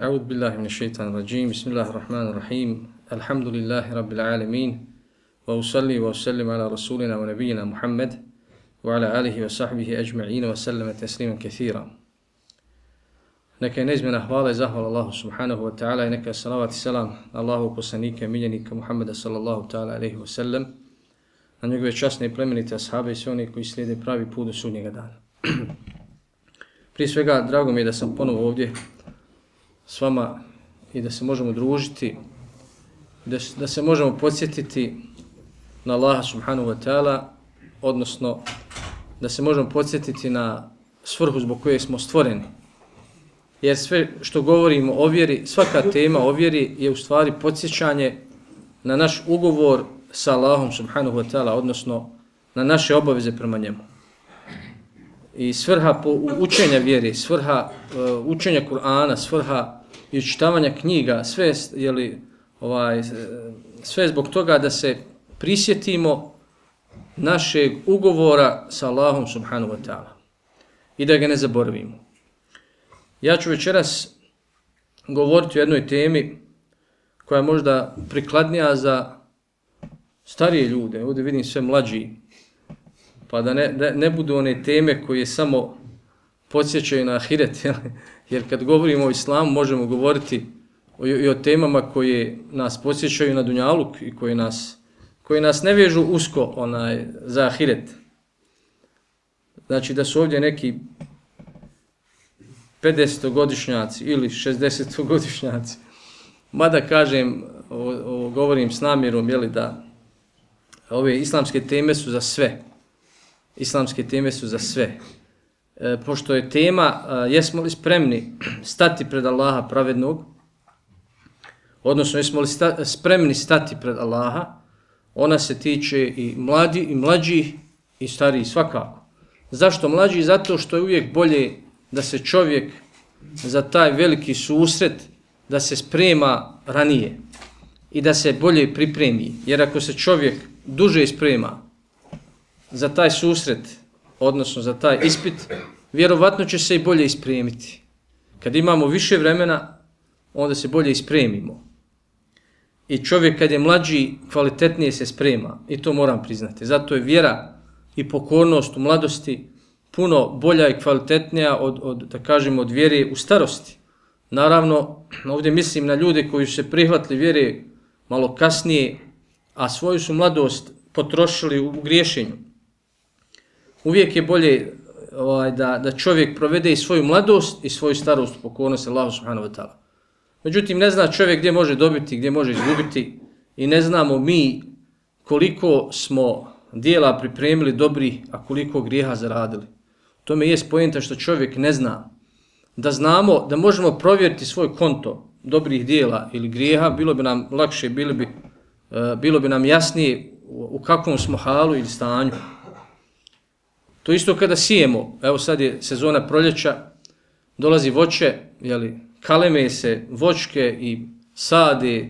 أعوذ بالله من الشيطان الرجيم بسم الله الرحمن الرحيم الحمد لله رب العالمين وأصلي وأسلم على رسولنا ونبينا محمد وعلى آله وصحبه أجمعين وسلم تسليما كثيرا. Neka je neizmjena hvala i zahvala Allahu subhanahu wa ta'ala i neka salavat i salam Allahu poslanika i miljenika Muhammeda sallallahu ta'ala alaihi wa sallam, na njegove časne i plemenite ashabe i sve oni koji slijede pravi put do sudnjega dana. Prije svega, drago mi je da sam ponovo ovdje s vama i da se možemo družiti, da se možemo podsjetiti na Allaha subhanahu wa ta'ala, odnosno da se možemo podsjetiti na svrhu zbog koje smo stvoreni. Jer sve što govorimo o vjeri, svaka tema o vjeri je u stvari podsjećanje na naš ugovor sa Allahom subhanahu wa ta'ala, odnosno na naše obaveze prema njemu. I svrha učenja vjeri, svrha učenja Kur'ana, svrha i učitavanja knjiga, sve zbog toga da se prisjetimo našeg ugovora sa Allahom subhanahu wa ta'ala i da ga ne zaboravimo. Ja ću večeras govoriti o jednoj temi koja je možda prikladnija za starije ljude. Ovdje vidim sve mlađi, pa da ne budu one teme koje samo podsjećaju na ahiret, jer kad govorimo o islamu možemo govoriti i o temama koje nas podsjećaju na dunjaluk i koje nas ne vežu usko za ahiret. Znači da su ovdje neki 50-godišnjaci ili 60-godišnjaci. Mada kažem, govorim s namjerom, da ove islamske teme su za sve. Islamske teme su za sve. Pošto je tema, jesmo li spremni stati pred Allaha pravednog, odnosno jesmo li spremni stati pred Allaha, ona se tiče i mlađih i starijih svakako. Zašto mlađi? Zato što je uvijek bolje da se čovjek za taj veliki susret, da se sprema ranije i da se bolje pripremi. Jer ako se čovjek duže sprema za taj susret, odnosno za taj ispit, vjerovatno će se i bolje ispremiti. Kad imamo više vremena, onda se bolje ispremimo. I čovjek kad je mlađi, kvalitetnije se sprema. I to moram priznati. Zato je vjera i pokornost u mladosti puno bolja i kvalitetnija od vjere u starosti. Naravno, ovdje mislim na ljude koji su se prihvatili vjere malo kasnije, a svoju su mladost potrošili u griješenju. Uvijek je bolje da čovjek provede i svoju mladost i svoju starost u pokornosti Allahu subhanahu wa ta'ala. Međutim, ne zna čovjek gdje može dobiti, gdje može izgubiti i ne znamo mi koliko smo dijela pripremili dobri, a koliko grijeha zaradili. To mi je poenta što čovjek ne zna. Da znamo, da možemo provjeriti svoj konto dobrih dijela ili grijeha, bilo bi nam lakše, bilo bi nam jasnije u kakvom smo halu ili stanju. To isto kada sijemo, evo sad je sezona proljeća, dolazi voće, kaleme se voćke i sade,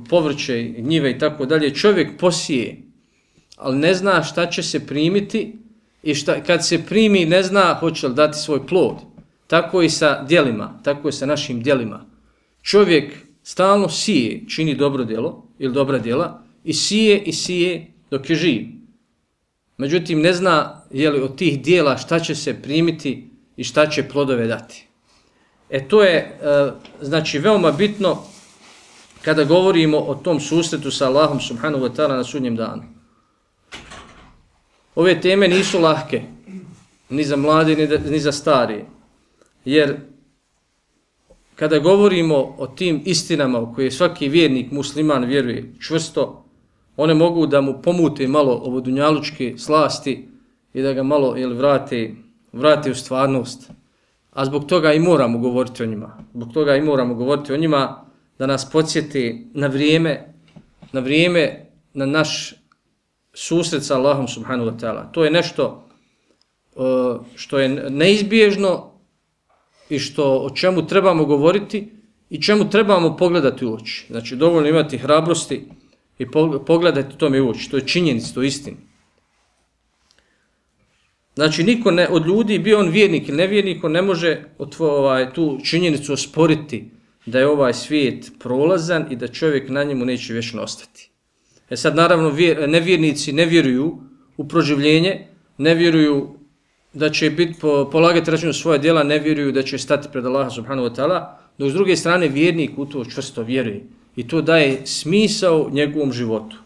povrće, njive i tako dalje. Čovjek posije, ali ne zna šta će se primiti i kad se primi ne zna hoće li dati svoj plod. Tako i sa djelima, tako i sa našim djelima. Čovjek stalno sije, čini dobro djelo ili dobra djela i sije dok je živ. Međutim, ne zna od tih djela šta će se primiti i šta će plodove dati. To je znači veoma bitno kada govorimo o tom susretu sa Allahom subhanahu wa ta'ala na sudnjem danu. Ove teme nisu lahke, ni za mlade, ni za starije. Jer kada govorimo o tim istinama u koje svaki vjernik, musliman vjeruje čvrsto, one mogu da mu pomute malo ovo dunjalučke slasti i da ga malo vrate u stvarnost. A zbog toga i moramo govoriti o njima. Zbog toga i moramo govoriti o njima da nas podsjeti na vrijeme, na naš susret sa Allahom subhanahu wa ta'ala. To je nešto što je neizbježno i o čemu trebamo govoriti i čemu trebamo pogledati u oči. Znači, dovoljno imati hrabrosti i pogledati tome u oči. To je činjenica, to je istina. Znači, niko ne, od ljudi, bio on vjernik ili nevjernik, on ne može tu činjenicu osporiti da je ovaj svijet prolazan i da čovjek na njemu neće vječno ostati. Sad, naravno, nevjernici ne vjeruju u proživljenje, ne vjeruju da će polagati račun svoje djela, ne vjeruju da će stati pred Allaha subhanahu wa ta'ala, dok s druge strane vjernik u to čvrsto vjeruje. I to daje smisao njegovom životu.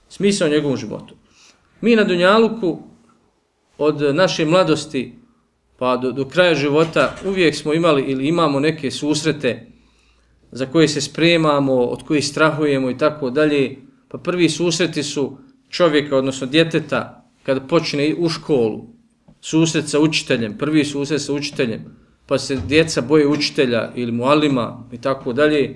Smisao njegovom životu. Mi na Dunjaluku od naše mladosti pa do kraja života uvijek smo imali ili imamo neke susrete za koje se spremamo, od kojih strahujemo i tako dalje. Pa prvi susreti su čovjeka, odnosno djeteta, kada počne u školu, susret sa učiteljem, prvi susret sa učiteljem, pa se djeca boje učitelja ili mualima i tako dalje.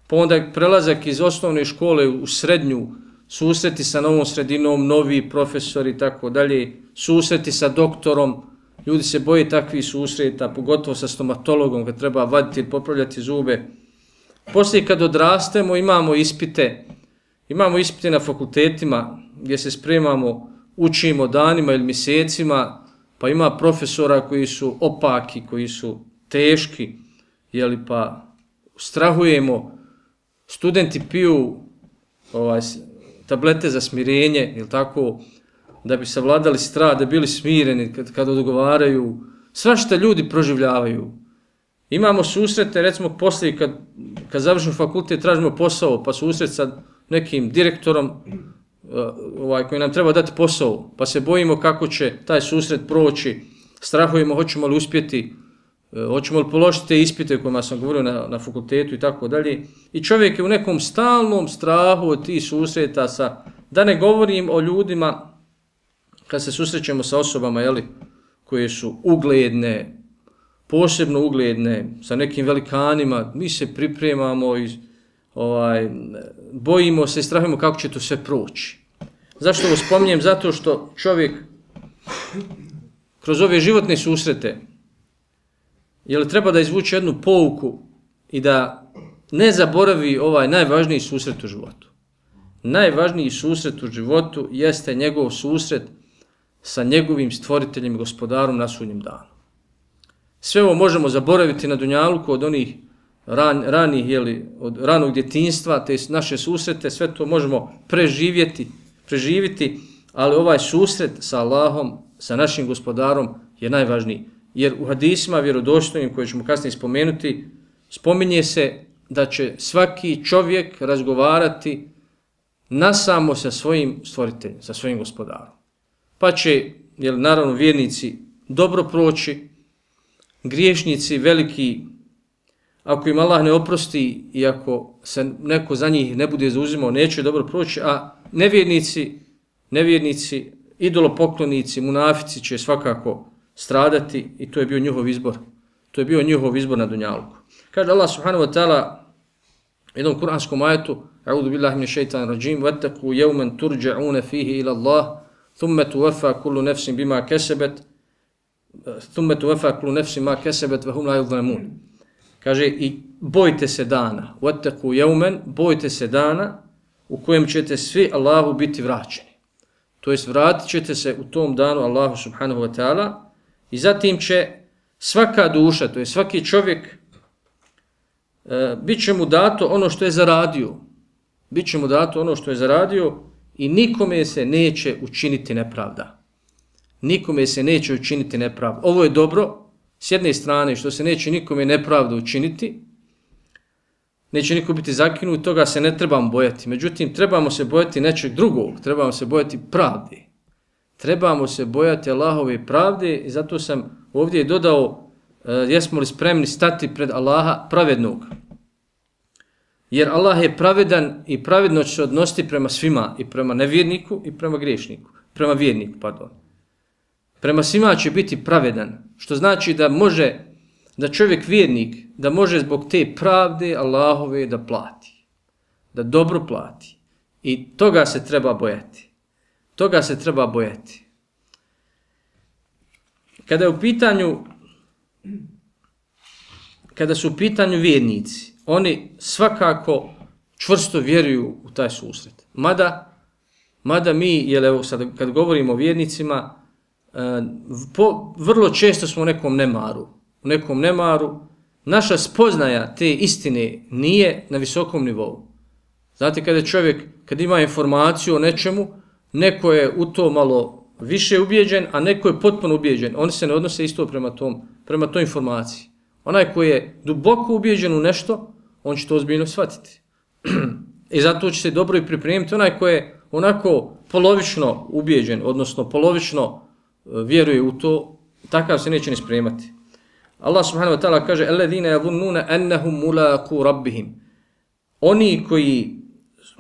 Pa onda prelazak iz osnovne škole u srednju, susreti sa novom sredinom, novi profesori i tako dalje, susreti sa doktorom, ljudi se boje takvih susreta, pogotovo sa stomatologom kad treba vaditi ili popravljati zube. Poslije kad odrastemo imamo ispite na fakultetima gdje se spremamo, učimo danima ili mjesecima, pa ima profesora koji su opaki, koji su teški, pa strahujemo, studenti piju tablete za smirenje, tako, da bi savladali strah, da bili smireni kad odgovaraju. Svašta ljudi proživljavaju. Imamo susrete, recimo poslije kad završimo fakultet, tražimo posao, pa susret sa nekim direktorom koji nam treba dati posao, pa se bojimo kako će taj susret proći, strahujemo hoćemo li uspjeti, hoćemo li položiti te ispite o kojima sam govorio na fakultetu i tako dalje. I čovjek je u nekom stalnom strahu od tih susreta da ne govorim o ljudima kad se susrećemo sa osobama koje su ugledne, posebno ugledne, sa nekim velikanima, mi se pripremamo i bojimo se i strahujemo kako će to sve proći. Zašto ovo spominjem? Zato što čovjek kroz ove životne susrete treba da izvuče jednu pouku i da ne zaboravi ovaj najvažniji susret u životu. Najvažniji susret u životu jeste njegov susret sa njegovim stvoriteljem i gospodarom na sudnjem danu. Sve ovo možemo zaboraviti na Dunjaluku od onih ranih, od ranog djetinjstva, te naše susrete, sve to možemo preživjeti, ali ovaj susret sa Allahom, sa našim gospodarom je najvažniji. Jer u hadisima vjerodostojnim, koje ćemo kasnije spomenuti, spominje se da će svaki čovjek razgovarati nasamo sa svojim stvoriteljem, sa svojim gospodarom. Pa će, naravno, vjernici dobro proći, griješnici veliki, ako im Allah ne oprosti i ako se neko za njih ne bude zauzimao, neće dobro proći, a nevjernici, idolopoklonici, munafici će svakako stradati i to je bio njihov izbor. To je bio njihov izbor na Dunjaluku. Kaže Allah subhanahu wa ta'ala u jednom kuranskom ajetu: A'udhu billahi minash shaitanir rajim, wattaqu yawman turja'una fihi ila Allah, thumma tuwaffa kullu nafsin bima kasabat, thumma tuwaffa kullu nafsin ma kasabat wa hum la yuzlamun. Kaže, i bojte se dana, wattaqu yawman, bojte se dana u kojem ćete svi Allahu biti vraćeni. To jest vratit ćete se u tom danu Allahu subhanahu wa ta'ala i zatim će svaka duša, to je svaki čovjek, bit će mu dato ono što je zaradio. Bit će mu dato ono što je zaradio i nikome se neće učiniti nepravda. Nikome se neće učiniti nepravda. Ovo je dobro, s jedne strane, što se neće nikome nepravda učiniti, neće niko biti zakinut, toga se ne trebamo bojati. Međutim, trebamo se bojati nečeg drugog, trebamo se bojati pravde. Trebamo se bojati Allahove pravde i zato sam ovdje dodao jesmo li spremni stati pred Allaha pravednog. Jer Allah je pravedan i pravedno će se odnositi prema svima, i prema nevjerniku i prema griješniku, prema vjerniku, pardon. Prema svima će biti pravedan, što znači da čovjek vjernik, da može zbog te pravde Allahove da plati, da dobro plati. I toga se treba bojati. Toga se treba bojati. Kada su u pitanju vjernici, oni svakako čvrsto vjeruju u taj susret. Mada mi, sad kad govorimo o vjernicima, vrlo često smo u nekom nemaru, naša spoznaja te istine nije na visokom nivou. Znate, kad ima informaciju o nečemu, neko je u to malo više ubijeđen, a neko je potpuno ubijeđen. Oni se ne odnose isto prema toj informaciji. Onaj koji je duboko ubijeđen u nešto, on će to ozbiljno shvatiti. I zato će se dobro i pripremiti. Onaj koji je onako polovično ubijeđen, odnosno polovično vjeruje u to, takav se neće ni spremati. Allah subhanahu wa ta'ala kaže alladhina yadhunnuna annahum mulaqu rabbihim. Oni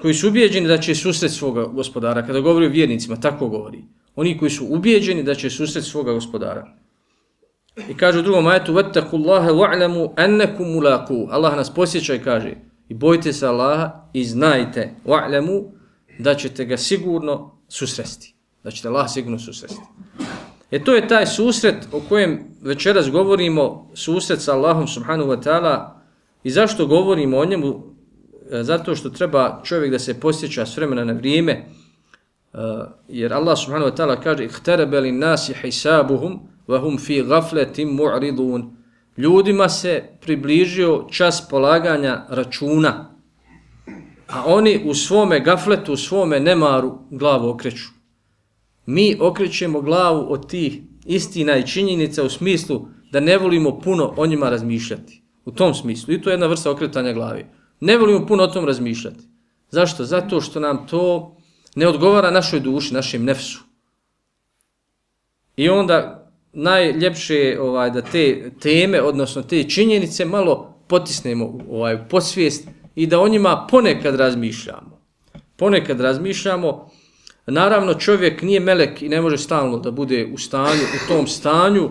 koji su ubijeđeni da će susreti svoga gospodara, kada govori o vjernicima, tako govori. Oni koji su ubijeđeni da će susreti svoga gospodara. I kaže u drugom ajetu wattaqullaha wa'lamu annakum mulaqu. Allah nas posjeća i kaže i bojte se Allaha i znajte wa'lamu da ćete ga sigurno susresti. Da ćete Allah sigurno susresti. To je taj susret o kojem večeras govorimo, susret sa Allahom subhanahu wa ta'ala. I zašto govorimo o njemu? Zato što treba čovjek da se posjeća s vremena na vrijeme, jer Allah subhanahu wa ta'ala kaže ihtaraba lin-nasi hisabuhum wa hum fi ghaflatin mu'ridun. Ljudima se približio čas polaganja računa, a oni u svome gafletu, u svome nemaru glavu okreću. Mi okrećemo glavu od tih istina i činjenica u smislu da ne volimo puno o njima razmišljati. U tom smislu. I to je jedna vrsta okretanja glavi. Ne volimo puno o tom razmišljati. Zašto? Zato što nam to ne odgovara našoj duši, našem nefsu. I onda najljepše je da te teme, odnosno te činjenice malo potisnemo u podsvijest i da o njima ponekad razmišljamo. Naravno, čovjek nije melek i ne može stalno da bude u tom stanju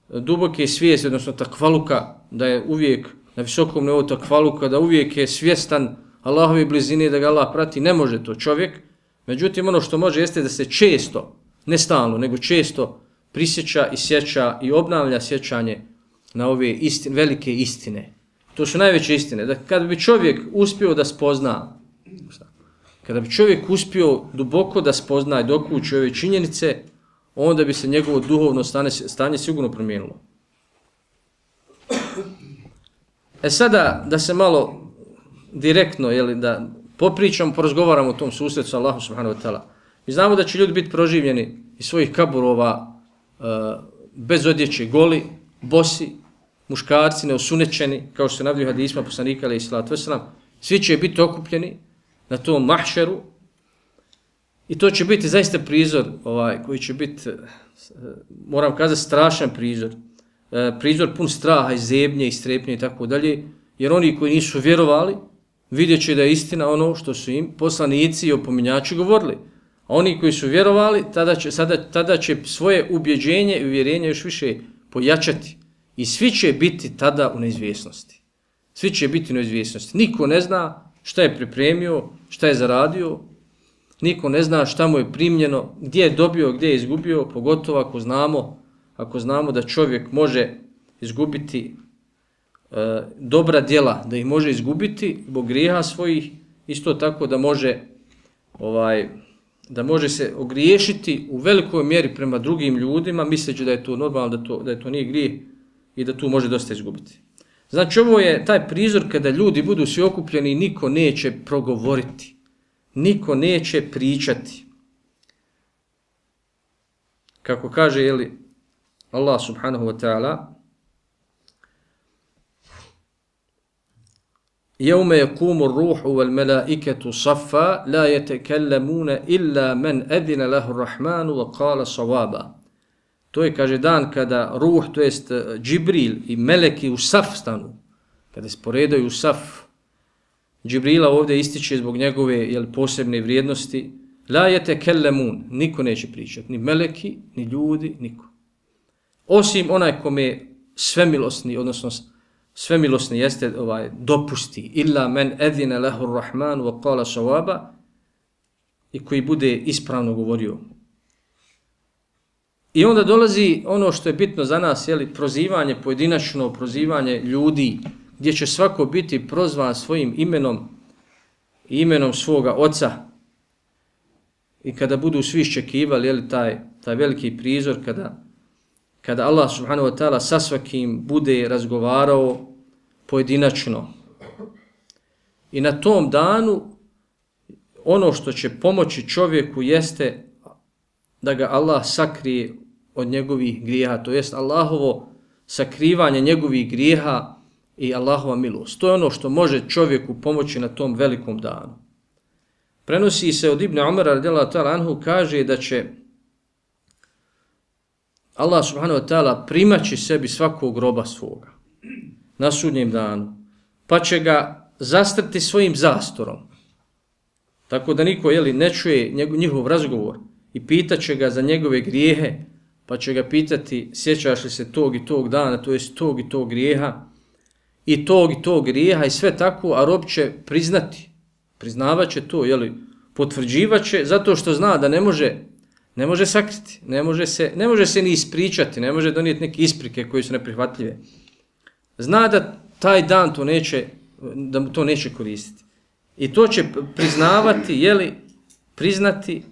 duboke svijesti, odnosno takvaluka, da je uvijek na visokom nivou takvaluka, da uvijek je svjestan Allahove blizine, da ga Allah prati. Ne može to čovjek. Međutim, ono što može jeste da se često, ne stalno, nego često prisjeća i sjeća i obnavlja sjećanje na ove velike istine. To su najveće istine. Da kada bi čovjek uspio da spozna, kada bi čovjek uspio duboko da spozna i dokući ove činjenice, onda bi se njegovo duhovno stanje sigurno promijenilo. Sada da se malo direktno, da popričamo, porazgovaramo o tom susretu sa Allahom subhanahu wa ta'ala. Mi znamo da će ljudi biti proživljeni iz svojih kaburova bez odjeće, goli, bosi, muškarci neosunečeni, kao što se navodi u hadisma poslanika alejhi selatu vesselam. Svi će biti okupljeni na tom mahšeru i to će biti zaista prizor koji će biti, moram kazati, strašan prizor. Prizor pun straha i zebnje i strepnje i tako dalje, jer oni koji nisu vjerovali vidjet će da je istina ono što su im poslanici i opominjači govorili. A oni koji su vjerovali, tada će svoje ubjeđenje i uvjerenje još više pojačati. I svi će biti tada u neizvjesnosti. Svi će biti u neizvjesnosti. Niko ne zna šta je pripremio, šta je zaradio. Niko ne zna šta mu je primljeno, gdje je dobio, gdje je izgubio, pogotovo ako znamo da čovjek može izgubiti dobra djela, da ih može izgubiti zbog grijeha svojih, isto tako da može se ogriješiti u velikoj mjeri prema drugim ljudima, misleći da je to normalno, da je to nije grijeh i da tu može dosta izgubiti. Znači, ovo je taj prizor kada ljudi budu svi okupljeni i niko neće progovoriti, niko neće pričati. Kako kaže Allah subhanahu wa ta'ala, يَوْمَ يَقُومُ الرُّوحُ وَالْمَلَائِكَةُ صَفًّا لَا يَتَكَلَّمُونَ إِلَّا مَنْ أَذِنَ لَهُ الرَّحْمَنُ وَقَالَ صَوَابًا. To je, kaže, dan kada ruh, to jest Džibril i meleki u saf stanu, kada se poredaju u saf. Džibrila ovdje ističe zbog njegove posebne vrijednosti. La yatakellamun, niko neće pričati, ni meleki, ni ljudi, niko. Osim onaj kome svemilosni, odnosno svemilosni jeste dopusti. Illa men adhina lahu ar-rahman wa qala sawaba, i koji bude ispravno govorio. I onda dolazi ono što je bitno za nas, prozivanje pojedinačno, prozivanje ljudi, gdje će svako biti prozvan svojim imenom i imenom svoga oca. I kada budu svi iščekivali taj veliki prizor kada Allah subhanahu wa ta'ala sa svakim bude razgovarao pojedinačno. I na tom danu ono što će pomoći čovjeku jeste da ga Allah sakrije od njegovih grijeha, to jest Allahovo sakrivanje njegovih grijeha i Allahova milost. To je ono što može čovjeku pomoći na tom velikom danu. Prenosi se od Ibn Umara radijallahu ta'ala anhu, kaže da će Allah subhanahu wa ta'ala primaći sebi svakog roba svoga na sudnjem danu, pa će ga zastrti svojim zastorom, tako da niko ne čuje njihov razgovor i pitaće ga za njegove grijehe, pa će ga pitati sjećaš li se tog i tog dana, to jest tog i tog grijeha i tog grijeha i sve tako, a rob će priznavat će to, potvrđivat će, zato što zna da ne može sakriti, ne može se ni ispričati, ne može donijeti neke isprike koje su neprihvatljive. Zna da taj dan da mu to neće koristiti. I to će priznavati, priznati,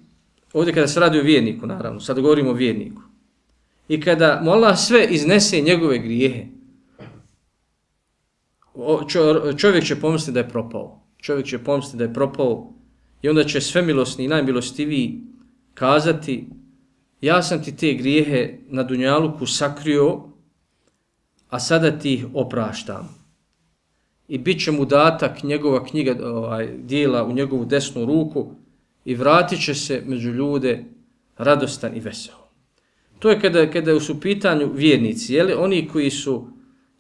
ovdje kada se radi o vjerniku, naravno, sad govorimo o vjerniku. I kada mu Allah sve iznese njegove grijehe, čovjek će pomisliti da je propao. Čovjek će pomisliti da je propao i onda će svemilosni i najmilostiviji kazati ja sam ti te grijehe na dunjaluku sakrio, a sada ti ih opraštam. I bit će mu data njegova knjiga dijela u njegovu desnu ruku i vratit će se među ljude radostan i vesel. To je kada su u pitanju vjernici, oni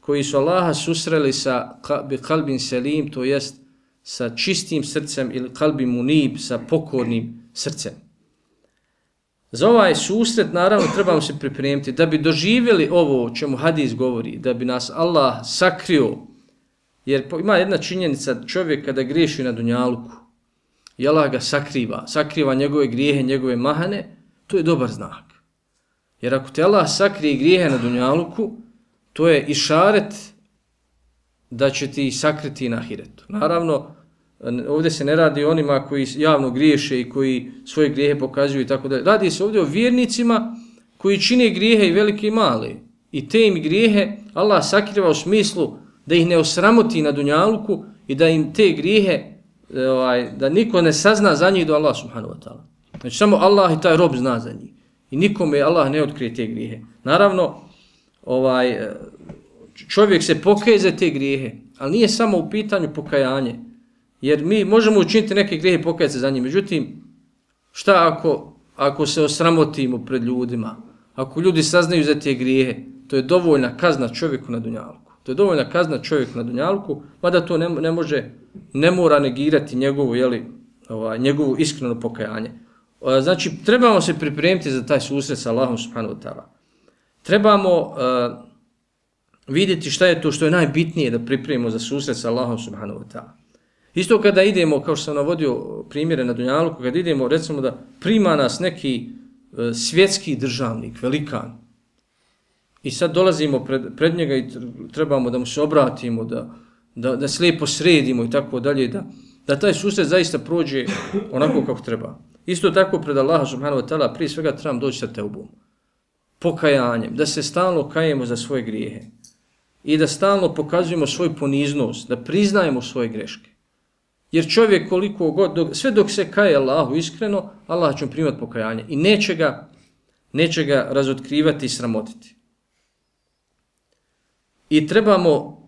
koji su Allaha susreli sa kalbin selim, to jest sa čistim srcem, ili kalbin munib, sa pokornim srcem. Za ovaj susret naravno trebamo se pripremiti da bi doživjeli ovo o čemu hadis govori, da bi nas Allah sakrio. Jer ima jedna činjenica, čovjek kada griješi na dunjaluku i Allah ga sakriva njegove grijehe, njegove mahane, to je dobar znak. Jer ako te Allah sakrije grijehe na dunjaluku, to je išaret da će ti sakriti na ahiretu. Naravno, ovdje se ne radi o onima koji javno griješe i koji svoje grijehe pokazuju i tako dalje. Radi se ovdje o vjernicima koji čine grijehe i velike i male. I te im grijehe Allah sakriva u smislu da ih ne osramoti na dunjaluku i da im te grijehe, da niko ne sazna za njih do Allah subhanahu wa ta'ala. Znači samo Allah i taj rob zna za njih. I nikome Allah ne otkrije te grijehe. Naravno, čovjek se pokaje za te grijehe, ali nije samo u pitanju pokajanje. Jer mi možemo učiniti neke grijehe i pokajati se za njih. Međutim, šta ako se osramotimo pred ljudima? Ako ljudi saznaju za te grijehe, to je dovoljna kazna čovjeku na dunjaluku. To je dovoljna kazna čovjeku na dunjaluku, mada to ne mora negirati njegovu iskreno pokajanje. Znači, trebamo se pripremiti za taj susret sa Allahom subhanahu wa ta'ala. Trebamo vidjeti šta je to što je najbitnije da pripremimo za susret sa Allahom subhanahu wa ta'ala. Isto kada idemo, kao što sam navodio primjere na dunjaluku, kada idemo, recimo da prima nas neki svjetski državnik, velikan, i sad dolazimo pred njega i trebamo da mu se obratimo, da se lijepo sredimo i tako dalje, da taj susret zaista prođe onako kako treba. Isto tako pred Allaha subhanahu wa ta'ala prije svega trebamo doći sa teubom, pokajanjem, da se stalno kajemo za svoje grijehe i da stalno pokazujemo svoju poniznost, da priznajemo svoje greške. Jer čovjek koliko god, sve dok se kaje Allahu iskreno, Allah će mu primati pokajanje i neće ga razotkrivati i sramotiti. I trebamo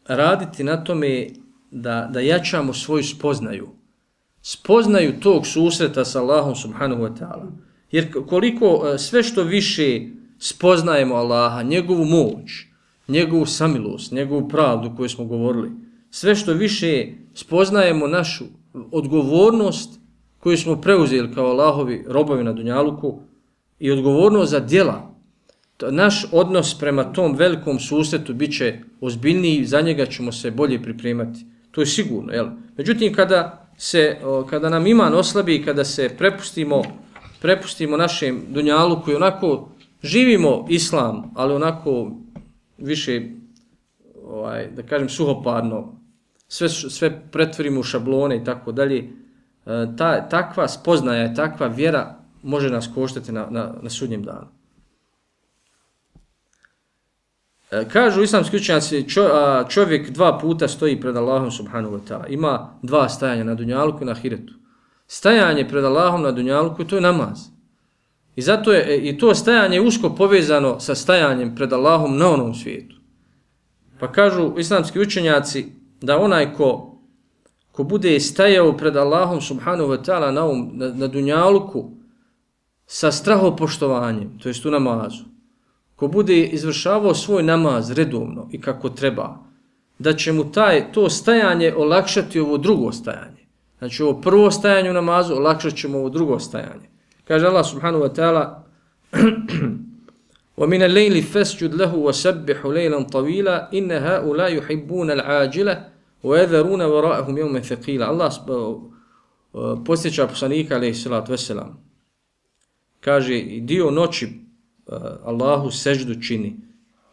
raditi na tome da jačamo svoju spoznaju tog susreta sa Allahom subhanahu wa ta'ala. Jer koliko sve što više spoznajemo Allaha, njegovu moć, njegovu samilost, njegovu pravdu koju smo govorili, sve što više spoznajemo našu odgovornost koju smo preuzeli kao Allahovi robovi na dunjaluku i odgovornost za djela, naš odnos prema tom velikom susretu bit će ozbiljniji, za njega ćemo se bolje pripremati. To je sigurno. Međutim, kada nam iman oslabi, kada se prepustimo našem dunjaluku i onako živimo islam, ali onako više, da kažem, suhoparno, sve pretvorimo u šablone i tako dalje, takva spoznaja, takva vjera može nas koštati na sudnjem danu. Kažu islamski učenjaci, čovjek 2 puta stoji pred Allahom subhanahu wa ta'ala. Ima 2 stajanja na dunjaluku i na ahiretu. Stajanje pred Allahom na dunjaluku, to je namaz. I zato je i to stajanje usko povezano sa stajanjem pred Allahom na onom svijetu. Pa kažu islamski učenjaci da onaj ko bude stajao pred Allahom subhanahu wa ta'ala na dunjaluku sa strahopoštovanjem, to jest u namazu, ko bude izvršavao svoj namaz redovno i kako treba, da će mu to stajanje olakšati ovo drugo stajanje. Znači ovo prvo stajanje u namazu olakšat ćemo ovo drugo stajanje. Kaže Allah subhanahu wa ta'ala وَمِنَ اللَّيْلِ فَسْجُدْ لَهُ وَسَبِّحُ لَيْلًا طَوِيلًا إِنَّ هَؤُلَاءِ يُحِبُّونَ الْعَاجِلَةَ وَيَذَرُونَ وَرَاءَهُمْ يَوْمًا ثَقِيلًا. Allah posjeća poslanika alejhi salatu vesselam. Kaže dio noći Allahu seždu čini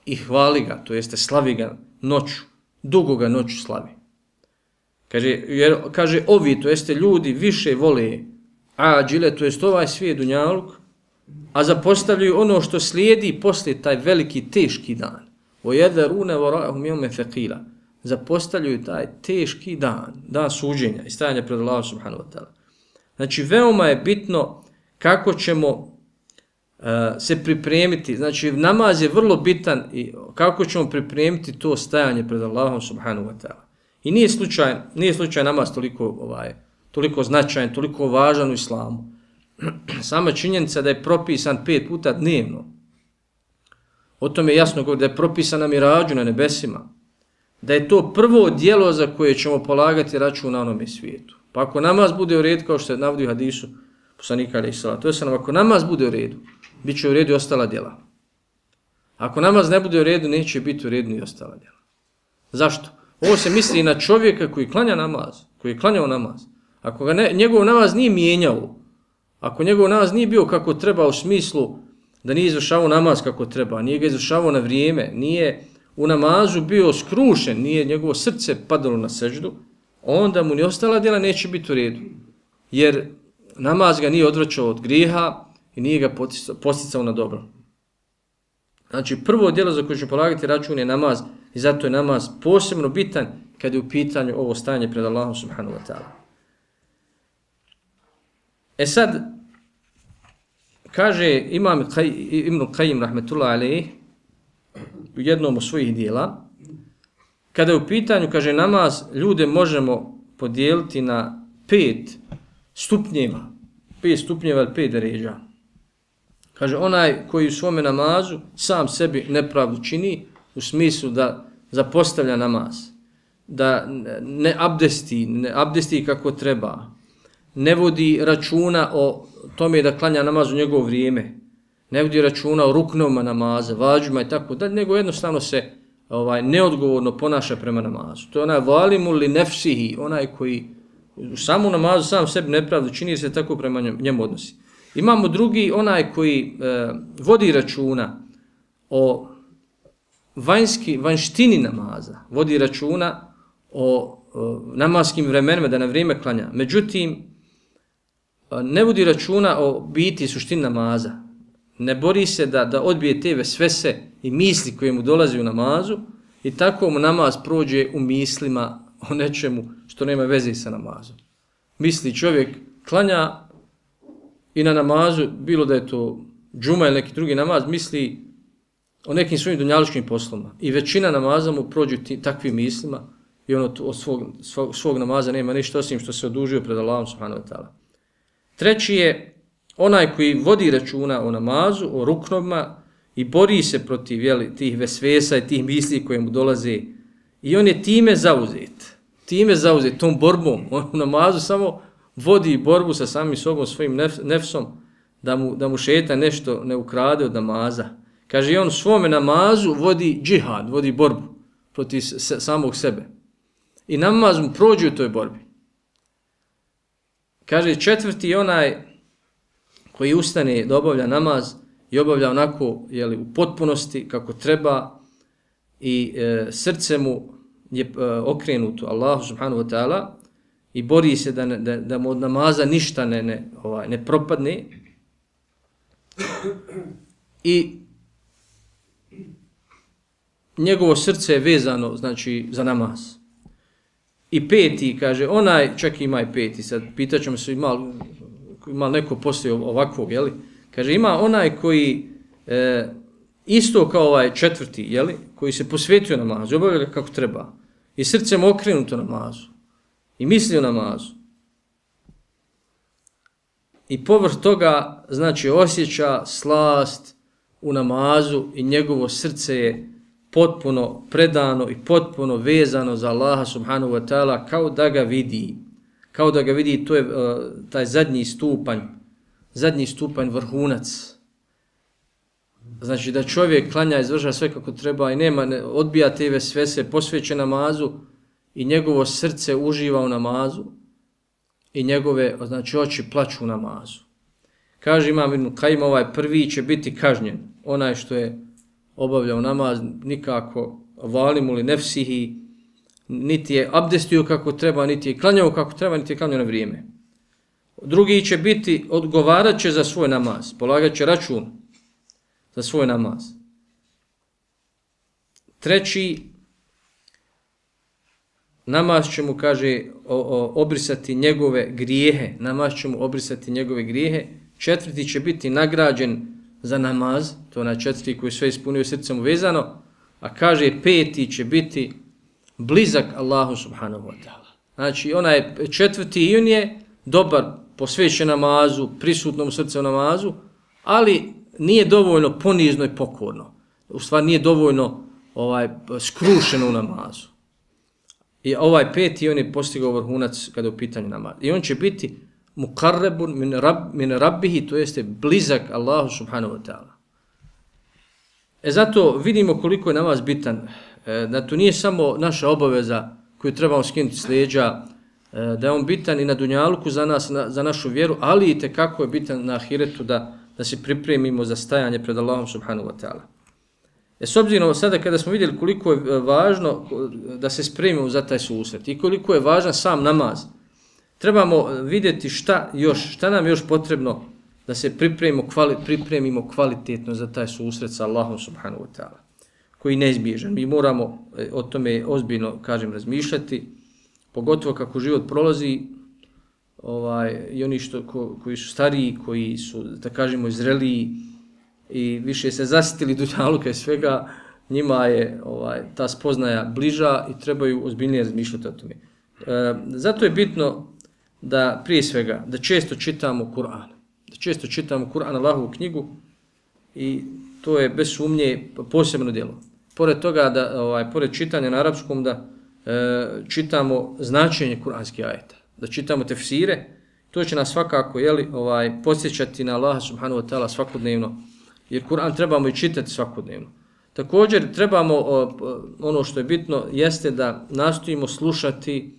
i hvali ga, to jeste slavi ga noću, dugo ga noću slavi. Kaže ovi, to jeste ljudi više vole ađile, to jest ovaj svijet dunjaluk, a zapostavljaju ono što slijedi poslije taj veliki teški dan. وَيَذَرُونَ وَرَاءَهُمْ يَوْمًا ثَقِيلًا. Zapostavljaju taj teški dan suđenja i stajanja pred Allahom subhanahu wa ta'ala. Znači veoma je bitno kako ćemo se pripremiti, znači namaz je vrlo bitan i kako ćemo pripremiti to stajanje pred Allahom subhanahu wa ta'ala. I nije slučaj namaz toliko značajan, toliko važan u islamu. Sama činjenica da je propisan 5 puta dnevno, o tome je jasno govori da je propisan na mirađu na nebesima, da je to prvo djelo za koje ćemo polagati račun na onome svijetu. Pa ako namaz bude u redu, kao što se navodi u hadisu poslanika alejhi salatu vesselam, ako namaz bude u redu, bit će u redu i ostala djela. Ako namaz ne bude u redu, neće biti u redu ni ostala djela. Zašto? Ovo se misli na čovjeka koji klanja namaz, koji je klanjao namaz. Ako ga njegov namaz nije mijenjao, ako njegov namaz nije bio kako treba u smislu da nije izvršavao namaz kako treba, nije ga izvršavao na vrijeme, nije u namazu bio skrušen, nije njegovo srce padalo na seždu, onda mu ni ostala djela neće biti u redu. Jer namaz ga nije odvraćao od grijeha i nije ga posticao na dobro. Znači prvo djelo za koje ću polagati račun je namaz i zato je namaz posebno bitan kad je u pitanju ovo stajanje pred Allahom subhanahu wa ta'ala. Sad, kaže imam Ibn Qayyim rahmetullahi alejhi u jednom od svojih dijela, kada je u pitanju, kaže, namaz, ljude možemo podijeliti na 5 stupnjeva. 5 stupnjeva ili 5 deređa. Kaže, onaj koji u svome namazu sam sebi nepravdu čini, u smislu da zapostavlja namaz, da ne abdesti kako treba, ne vodi računa o tome da klanja namaz u njegovo vrijeme, ne vodi računa o ruknovima namaza, vađima i tako dalje, nego jednostavno se neodgovorno ponaša prema namazu. To je onaj valimu li nefsihi, onaj koji u samu namazu sam sebi nepravdu čini, jer se tako prema njemu odnosi. Imamo drugi, onaj koji vodi računa o vanjštini namaza, vodi računa o namaskim vremenima da na vrijeme klanja. Međutim, ne vodi računa o biti i suštini namaza. Ne bori se da odbije te vesvese i misli koje mu dolazi u namazu i tako mu namaz prođe u mislima o nečemu što nema veze sa namazom. Misli čovjek klanja i na namazu, bilo da je to džuma ili neki drugi namaz, misli o nekim svojim dunjalučkim poslovima. I većina namaza mu prođe takvim mislima i ono od svog namaza nema ništa osim što se odužio pred Allahom subhanahu wa ta'ala. Treći je onaj koji vodi računa o namazu, o ruknovima i bori se protiv tih vesvesa i tih misli koje mu dolaze. I on je time zauzet, tom borbom. On u namazu samo vodi borbu sa samim sobom, svojim nefsom, da mu šejtan nešto ne ukrade od namaza. Kaže, i on u svome namazu vodi džihad, vodi borbu protiv samog sebe. I namaz mu prođe u toj borbi. Kaže, četvrti je onaj koji ustane da obavlja namaz i obavlja onako u potpunosti kako treba i srce mu je okrenuto Allahu subhanahu wa ta'ala i bori se da mu od namaza ništa ne propadne i njegovo srce je vezano, znači, za namaz. I peti, kaže, onaj, čak ima i peti, sad pitaćemo se ima neko poslije ovakvog, jeli? Kaže, ima onaj koji, isto kao ovaj četvrti, jeli? Koji se posvetio namazu, obavlja ga kako treba. I srcem okrenuto namazu. I misli o namazu. I povrh toga, znači, osjeća slast u namazu i njegovo srce je potpuno predano i potpuno vezano za Allaha subhanahu wa ta'ala kao da ga vidi. Kao da ga vidi, to je taj zadnji stupanj vrhunac. Znači da čovjek klanja, izvrša sve kako treba i odbija te vesvese, posveće namazu i njegovo srce uživa u namazu i njegove, znači, oči plaču u namazu. Kaže Imam Ibn Kajim, ovaj prvi će biti kažnjen, onaj što je obavljao namaz, nikako valimu li nefsihi, niti je abdestio kako treba, niti je klanjao kako treba, niti je klanjao na vrijeme. Drugi će biti, odgovarat će za svoj namaz, polagat će račun za svoj namaz. Treći, namaz će mu, kaže, obrisati njegove grijehe. Namaz će mu obrisati njegove grijehe. Četvrti će biti nagrađen za namaz, to je onaj četvrti koji sve ispunio srcem uvezano, a kaže peti će biti blizak Allahu subhanahu wa ta'ala. Znači onaj četvrti i on je dobar, posvećen namazu, prisutnom u srcu namazu, ali nije dovoljno ponizno i pokorno. U stvari nije dovoljno skrušeno u namazu. I ovaj peti on je postigao vrhunac kada je u pitanju namaza. I on će biti muqarrabun min rabbihi, to jeste blizak Allahu subhanahu wa ta'ala. Zato vidimo koliko je namaz bitan, da to nije samo naša obaveza koju trebamo skinuti s leđa, da je on bitan i na dunjaluku za nas, za našu vjeru, ali i tekako je bitan na ahiretu da se pripremimo za stajanje pred Allahom subhanahu wa ta'ala. S obzirom sada kada smo vidjeli koliko je važno da se spremimo za taj susret i koliko je važan sam namaz, trebamo vidjeti šta nam još potrebno da se pripremimo kvalitetno za taj susret sa Allahom subhanahu wa ta'ala, koji je neizbježan. Mi moramo o tome ozbiljno, kažem, razmišljati, pogotovo kako život prolazi, i oni koji su stariji, koji su, da kažemo, zreliji i više se zasitili dunjaluka i svega, njima je ta spoznaja bliža i trebaju ozbiljnije razmišljati o tome. Zato je bitno da prije svega, da često čitamo Kur'an. Da često čitamo Kur'an, Allahovu knjigu, i to je bez sumnje posebno djelo. Pored toga, pored čitanja na arapskom, da čitamo značenje kuranskih ajeta, da čitamo tefsire, to će nas svakako podsjećati na Allaha subhanahu wa ta'ala svakodnevno, jer Kur'an trebamo i čitati svakodnevno. Također trebamo, ono što je bitno, jeste da nastojimo slušati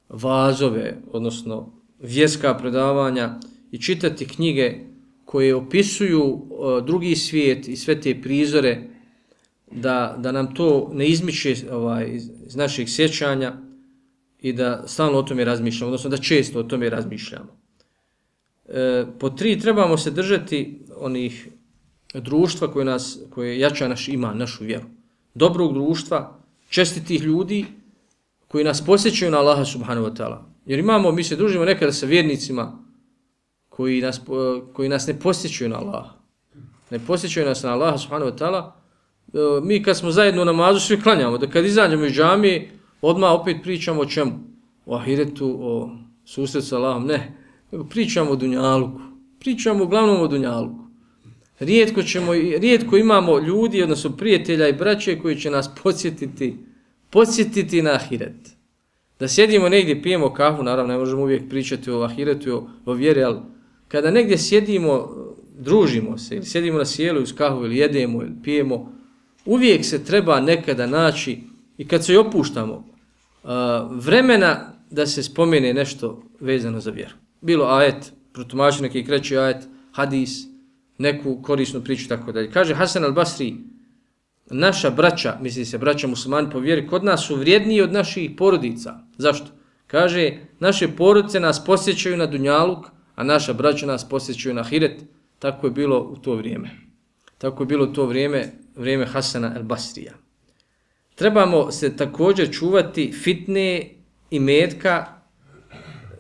vazove, odnosno vjerska predavanja i čitati knjige koje opisuju drugi svijet i sve te prizore, da nam to ne izmiče iz naših sjećanja i da stalno o tome razmišljamo, odnosno da često o tome razmišljamo. Po 3, trebamo se držati onih društva koje jača naš iman, našu vjeru. Dobrog društva, čestitih ljudi koji nas posjećaju na Allaha subhanahu wa ta'ala. Jer mi se družimo nekada sa vjernicima koji nas ne posjećaju na Allaha. Ne posjećaju nas na Allaha subhanahu wa ta'ala. Mi kad smo zajedno u namazu svi klanjamo, da kad izađemo iz džamije, odmah opet pričamo o čemu? O ahiretu, o susretu sa Allahom, ne. Pričamo o dunjaluku. Pričamo uglavnom o dunjaluku. Rijetko imamo ljudi, odnosno prijatelja i braće koji će nas podsjetiti na ahiret. Da sjedimo negdje, pijemo kafu, naravno ne možemo uvijek pričati o ahiretu, o vjeri, ali kada negdje sjedimo, družimo se, ili sjedimo na sjelu uz kafu, ili jedemo, ili pijemo, uvijek se treba nekada naći, i kad se i opuštamo, vremena da se spomene nešto vezano za vjeru. Bilo ajet, protumači neki kreći ajet, hadis, neku korisnu priču, tako dalje. Kaže Hasan al-Basri, naša braća, misli se braća muslimani po vjeri, kod nas su vrijedniji od naših porodica. Zašto? Kaže, naše porodice nas posjećaju na dunjaluk, a naša braća nas posjećaju na ahiret. Tako je bilo u to vrijeme. Tako je bilo u to vrijeme Hasana el-Basrija. Trebamo se također čuvati fitne i metka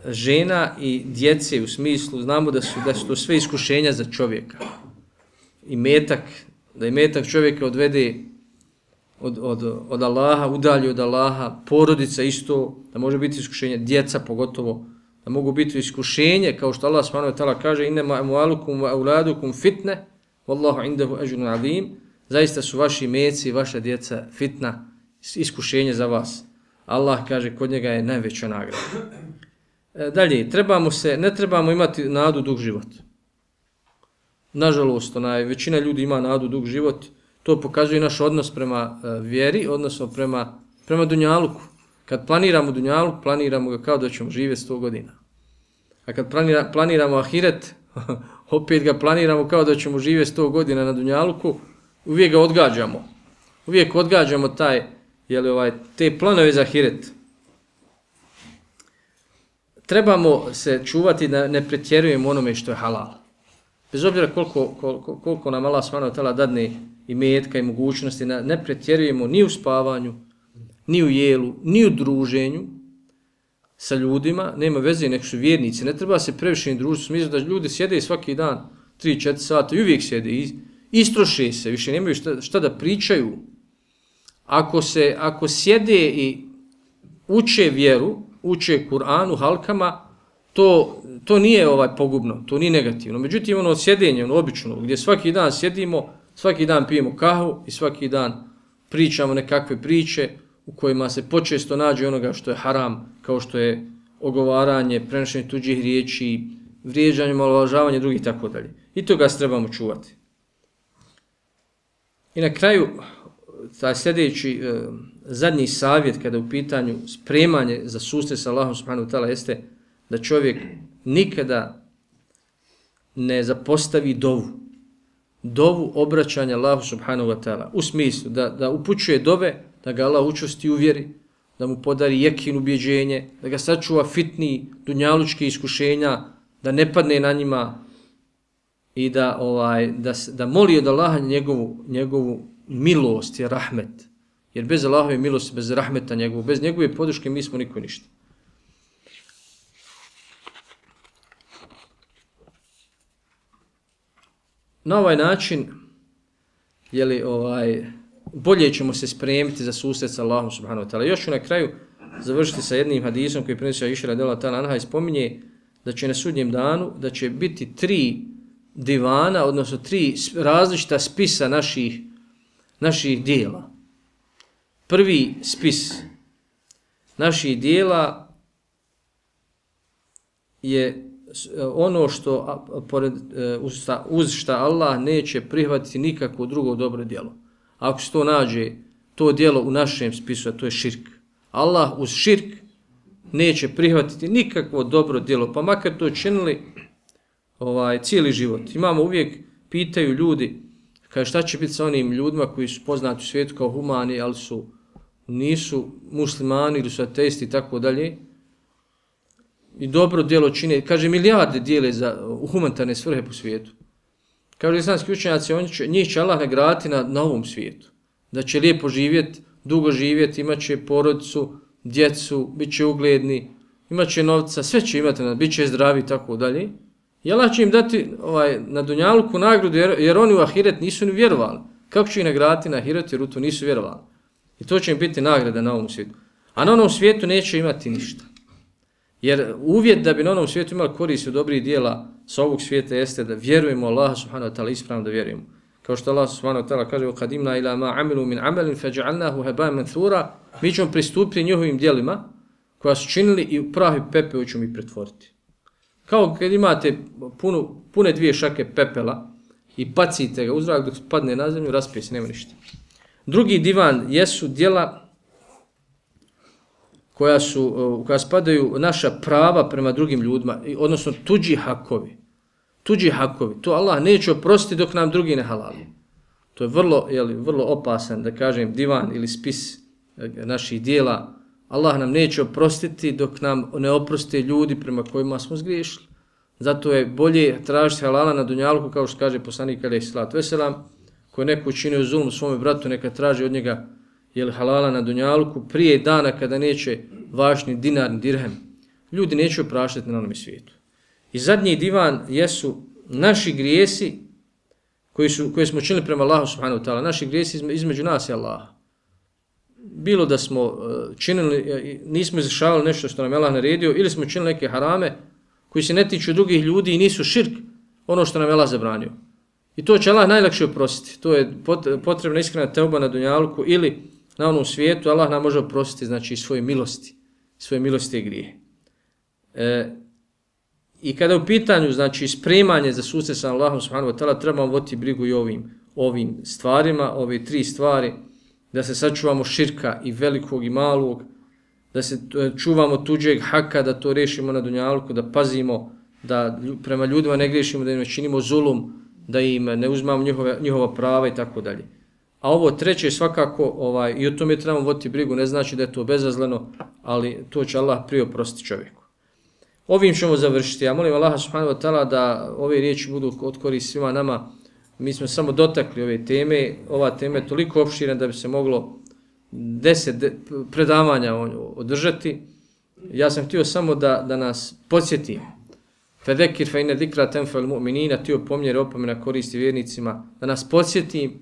žena i djece u smislu, znamo da su to sve iskušenja za čovjeka. Da i metak čovjeka odvede od Allaha, udalji od Allaha, porodica isto, da može biti iskušenje, djeca pogotovo, da mogu biti iskušenje, kao što Allah subhanahu wa ta'ala kaže innama amwalukum wa auladukum fitne, wallahu indahu ajrun azim, zaista su vaši meci i vaša djeca fitna, iskušenje za vas. Allah kaže kod njega je najveća nagrada. Dalje, ne trebamo imati nadu dug život. Nažalost, većina ljudi ima nadu dug život, to pokazuje naš odnos prema vjeri, odnosno prema dunjaluku. Kad planiramo dunjaluk, planiramo ga kao da ćemo živjeti 100 godina. A kad planiramo ahiret, opet ga planiramo kao da ćemo živjeti 100 godina na dunjaluku, uvijek ga odgađamo. Uvijek odgađamo te planove za ahiret. Trebamo se čuvati da ne pretjerujemo onome što je halal. Bez obzira koliko nam Allah subhanahu wa ta'ala dadne i metka i mogućnosti, ne pretjerujemo ni u spavanju, ni u jelu, ni u druženju sa ljudima, nema veze, nek su vjernici, ne treba se previše ni družiti, smislu da ljudi sjede svaki dan 3-4 sata i uvijek sjede, istroše se, više nemaju šta da pričaju. Ako sjede i uče vjeru, uče Kur'anu, halkama, to nije pogubno, to nije negativno. Međutim, ono sjedenje, obično, gdje svaki dan sjedimo, svaki dan pijemo kahu i svaki dan pričamo nekakve priče u kojima se počesto nađe onoga što je haram, kao što je ogovaranje, prenošenje tuđih riječi, vrijeđanje, omalovažavanje drugih itd. I toga se trebamo čuvati. I na kraju, taj sljedeći zadnji savjet kada je u pitanju spremanje za susret sa Allahom subhanahu wa ta'ala jeste da čovjek nikada ne zapostavi dovu obraćanja Allahu subhanahu wa ta'ala, u smislu da upućuje dove, da ga Allah učvrsti u vjeri, da mu podari jekin ubjeđenje, da ga sačuva fitni dunjalučki iskušenja, da ne padne na njima i da moli od Allaha njegovu milost i rahmet. Jer bez Allahove milosti, bez rahmeta njegovog, bez njegove podrške mi smo niko ništa. Na ovaj način bolje ćemo se spremiti za susret sa Allahom subhanahu wa ta'ala. Još ću na kraju završiti sa jednim hadisom koji prenosi Aisha radijallahu ta'ala anha i spominje da će na sudnjem danu, da će biti 3 divana, odnosno 3 različita spisa naših dijela. Prvi spis naših dijela je ono što uz šta Allah neće prihvatiti nikakvo drugo dobro djelo. Ako se to nađe, to djelo u našem spisu, a to je širk. Allah uz širk neće prihvatiti nikakvo dobro djelo, pa makar to činili cijeli život. Imamo uvijek, pitaju ljudi, kaže šta će biti sa onim ljudima koji su poznati u svijetu kao humani, ali nisu muslimani ili su ateisti i tako dalje. I dobro djelo čine, kaže milijarde dijele u humanitarne svrhe po svijetu. Kaže islamski učenjaci, njih će Allah nagraditi na ovom svijetu. Da će lijepo živjeti, dugo živjeti, imat će porodicu, djecu, bit će ugledni, imat će novca, sve će imati, bit će zdravi i tako dalje. I Allah će im dati na dunjaluku nagradu jer oni u ahiret nisu ni vjerovali. Kako će ih nagraditi na ahiret jer u to nisu vjerovali? I to će im biti nagrada na ovom svijetu. A na onom svijetu neće imati ništa. Jer uvjet da bi na onom svijetu imali korist od dobrih dijela sa ovog svijeta jeste da vjerujemo Allah subhanahu wa ta'ala, ispravno da vjerujemo. Kao što Allah subhanahu wa ta'ala kaže وَقَدِمْنَا إِلَا مَا عَمِلُوا مِنْ عَمَلٍ فَجَعَلْنَاهُ هَبَاءً مَنْثُورًا. Mi ćemo pristupiti njihovim dijelima koja su činili i u prah i pepeo ćemo ih pretvoriti. Kao kad imate pune 2 šake pepela i bacite ga u zrak dok padne na zemlju, raspije se, nema ništa. Drugi divan jesu djela koja spadaju naša prava prema drugim ljudima, odnosno tuđi hakovi. Tuđi hakovi. To Allah neće oprostiti dok nam drugi ne halali. To je vrlo opasan, da kažem, divan ili spis naših dijela. Allah nam neće oprostiti dok nam ne oproste ljudi prema kojima smo zgriješili. Zato je bolje tražiti halala na dunjaluku, kao što kaže poslanik alejhi selatu vesselam, ko je neko učinio zulum svome bratu, neka traži od njega halala na dunjaluku prije dana kada neće važni dinar ni dirhem. Ljudi neće opraštati na onom svijetu. I zadnji divan jesu naši grijesi koje smo činili prema Allahu subhanahu wa ta'ala, naši grijesi između nas i Allaha. Bilo da smo činili, nismo izvršavali nešto što nam je Allah naredio, ili smo činili neke harame koji se ne tiču drugih ljudi i nisu širk, ono što nam je Allah zabranio. I to će Allah najlakše oprostiti. To je potrebna iskrena teuba na dunjaluku ili na onom svijetu. Allah nam može oprostiti, znači, svoje milosti i grije. I kada je u pitanju, znači, spremanje za susret sa Allahom subhanahu wa ta'ala, trebamo voditi brigu i ovim stvarima, ove 3 stvari, da se sačuvamo širka i velikog i malog, da se čuvamo tuđeg haka, da to rešimo na dunjaluku, da pazimo, da prema ljudima ne grešimo, da im ne činimo zulum, da im ne uzmamo njihova prava i tako dalje. A ovo treće svakako, i o tome trebamo voditi brigu, ne znači da je to bezazleno, ali to će Allah prije oprostiti čovjeku. Ovim ćemo završiti. Ja molim Allaha subhanahu wa ta'ala da ove riječi budu od koristi svima nama. Mi smo samo dotakli ove teme. Ova tema je toliko opširna da bi se moglo 10 predavanja održati. Ja sam htio samo da nas podsjetim. Fedekir fe inne zikra tenfa'ul mu'minina, ti opomnjeri opomena koristi vjernicima, da nas podsjetim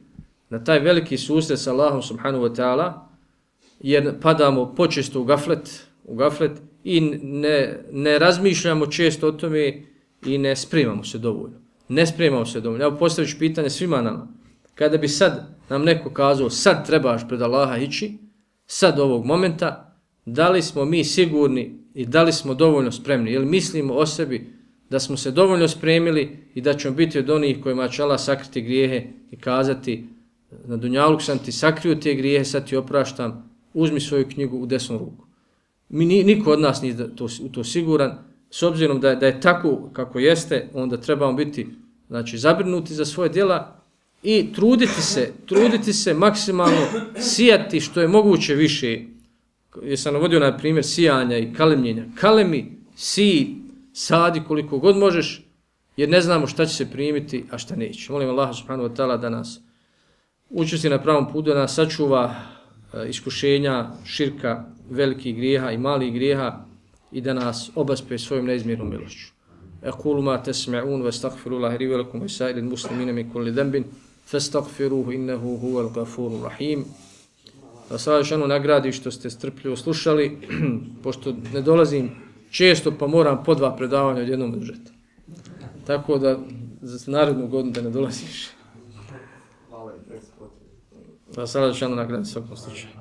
na taj veliki susret sa Allahom subhanahu wa ta'ala, jer padamo počesto u gaflet i ne razmišljamo često o tome i ne spremamo se dovoljno. Evo postavit ću pitanje svima nama. Kada bi sad nam neko kazao, sad trebaš pred Allaha ići, sad ovog momenta, da li smo mi sigurni i da li smo dovoljno spremni? Ili mislimo o sebi da smo se dovoljno spremili i da ćemo biti od onih kojima će Allah sakriti grijehe i kazati, na dunjaluk sam ti sakrio te grijehe, sad ti opraštam, uzmi svoju knjigu u desnu ruku. Niko od nas nije u to siguran. S obzirom da je tako kako jeste, onda trebamo biti, znači, zabrinuti za svoje djela i truditi se maksimalno, sijati što je moguće više. Jesam navodio na primjer sijanja i kalemljenja. Kalemi, siji, sadi koliko god možeš, jer ne znamo šta će se primiti, a šta neće. Molim Allaha subhanahu wa ta'ala da nas učesti na pravom putu, da nas sačuva iskušenja, širka, velikih grijeha i malih grijeha i da nas obaspe svojom neizmjernom milošću. Aqulu ma tasma'un wa astaghfirullaha li wa lakum wa sa'iril muslimina min kulli dhanbin fastaghfiruhu innahu huwal ghafurur rahim. Da se Allah nagradi što ste strpljivo slušali, pošto ne dolazim često pa moram po 2 predavanja odjednom držati. Tako da za narednu godinu da ne dolaziš. Da se Allah nagradi svakom slučaju.